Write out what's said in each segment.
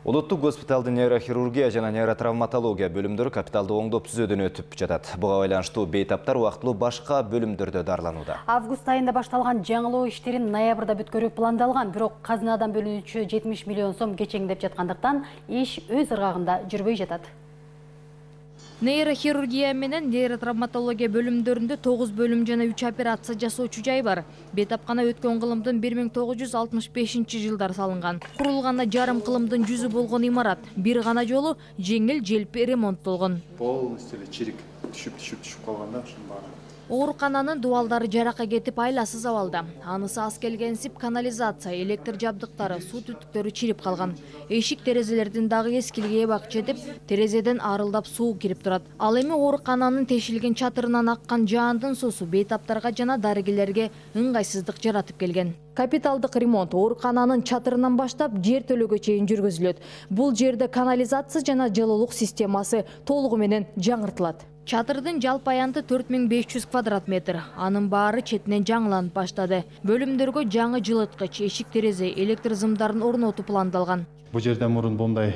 Улуттук госпиталдын нейрохирургия жана нейротравматология бөлүмдөрү капиталды оңдоп түзөөдөн өтүп жатат. Буга байланыштуу бейтаптар убактылуу башка бөлүмдөрдө дарыланууда. Август айында башталган жаңылоо иштерин ноябрда бүткөрүү пландалган, бирок казынадан бөлүнүүчү 70 миллион сом кечеңдеп жаткандыктан иш өз ыргагында жүрбөй жатат. Нейрохирургия менен нейротравматология бөлүмдөрүндө 9 бөлүм жана 3 операция жасоочу жай бар. Бейтапкана өткөн кылымдын 1965-жылдар салынган. Курулганына жарым кылымдын жүзү болгон имарат. Бир гана жолу жеңил желпи ремонттолгон. Полностью чирик түшүп калганда ушун баары. Оорукананын дубалдары жаракка кетип айласыз абалда. Анысы аз келгенсип канализация, электр жабдыктары, суу түтүктөрү чирип калган. Эшик терезелердин дагы эскилиги эбак жетип, терезеден арылдап суу кирип турат. Ал эми оорукананын тешилген чатырынан аккан жаандын суусу бейтаптарга жана дарыгерлерге ыңгайсыздык жаратып келген. Капиталдык ремонт оорукананын чатырынан баштап жер төлөгө чейин жүргүзүлөт. Бул жерде канализация жана жылуулук системасы толугу менен жаңыртылат. Чатырдын жалпы аянты 4500 квадрат метр. Анын баары четинен жаңыланып баштады. Бөлүмдөргө жаңы жылыткыч, эшик терезе, электр зымдарын орнотуу пландалган. Бул жерде мурун мындай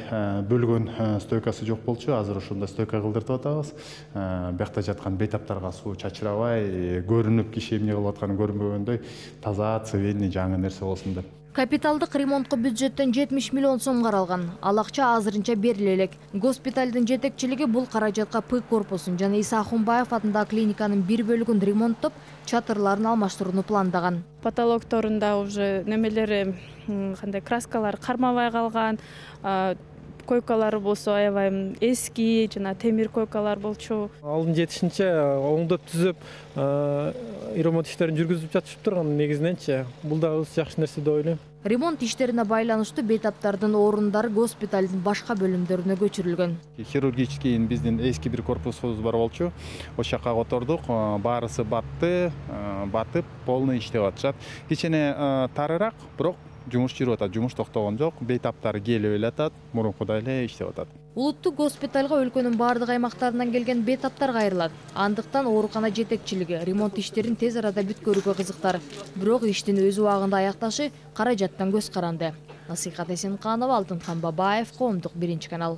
бөлгөн стойкасы жок болчу. Азыр ушундай стойка кылдыртып атабыз. Биякта жаткан бейтаптарга суу чачырабай, көрүнүп киши эмне кылып атканы көрүнбөгөндөй таза, цивильный, жаңы нерсе болсун деп. Капиталдык ремонтко бюджеттен 70 миллион сом каралган. Ал акча азырынча бериле элек. Госпиталдын жетекчилиги бул каражатка П корпусун жана Иса Ахунбаев атындагы клиниканын бир бөлүгүн ремонттоп, чатырларын алмаштырууну пландаган. Потолокторунда уже немелери кандай краскалар кармабай калган, койкалары болсо аябай эски жана темир койкалар болчу. Алдын жетишинче оңдоп түзөп, ремонт иштерин жүргүзүп жатышып турган негизиненчи. Бул да жакшы нерсе деп ойлойм. Ремонт иштерине байланыштуу бейтаптардын орундары госпиталдын башка бөлүмдөрүнө көчүрүлгөн. Хирургический биздин эски бир корпусубуз бар болчу. Ошол жака котордук, баарысы батып, полный иштеп атышат. Кичине тарыраак, бирок жумуш жүрүп атат, жумуш токтогон жок. Бейтаптар келип эле мурункудай эле иштеп атат. Улуттук госпиталга өлкөнүн бардык аймактарынан келген бейтаптар кайрылат. Андыктан оорукана жетекчилиги ремонт иштерин тез арада бүткөрүүгө кызыктар. Бирок иштин өз убагында аякташы каражаттан көз каранды. Насыйхат Эсенканова, Алтынхан Бабаев, Коомдук 1 канал.